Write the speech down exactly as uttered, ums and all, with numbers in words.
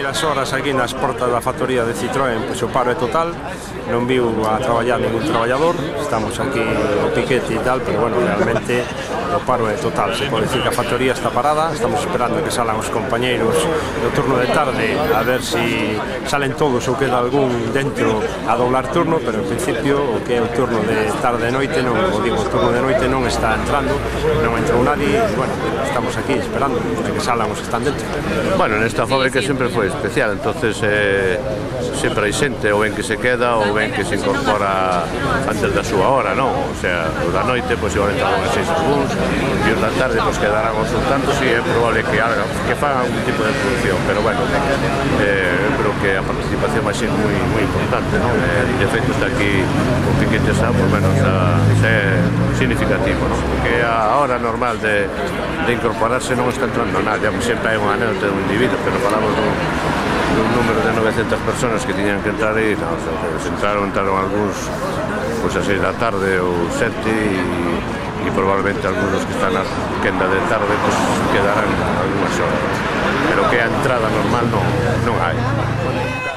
primeiras horas aquí nas portas da factoría de Citroën, pois o paro é total, non viu a traballar ningún traballador, estamos aquí o piquete e tal, pero bueno, realmente o paro é total, se pode dicir que a factoría está parada, estamos esperando que salan os compañeiros do turno de tarde a ver se salen todos ou queda algún dentro a doblar turno, pero en principio o que é o turno de tarde e noite, non, o digo, o turno de noite non está entrando, non entrou nadie, e bueno, estamos aquí esperando a que salan os que están dentro. Bueno, nesta fábrica sempre foi especial, entonces eh, sempre hai xente, ou ben que se queda ou ben que se incorpora antes da súa hora, non? O sea, o da noite, pois igual entraron a seis algúns, e os da tarde, pois quedarán os un tantos, e é probable que, haga, que fagan algún tipo de producción, pero bueno, eh, eu creo que a participación vai ser moi, moi importante, non? Eh, de feito, está aquí o piquete xa, por menos, a, é significativo, non? Porque a hora normal de, de incorporarse non está entrando nadie, sempre hai unha anécdota de un individuo, pero falamos dun, dun número de novecentas personas que tiñan que entrar e non, o sea, se entraron, entraron algúns pois a seis da tarde ou sete e, e probablemente algúns que están na quenda de tarde pois quedarán algunhas horas, pero que a entrada normal non, non hai.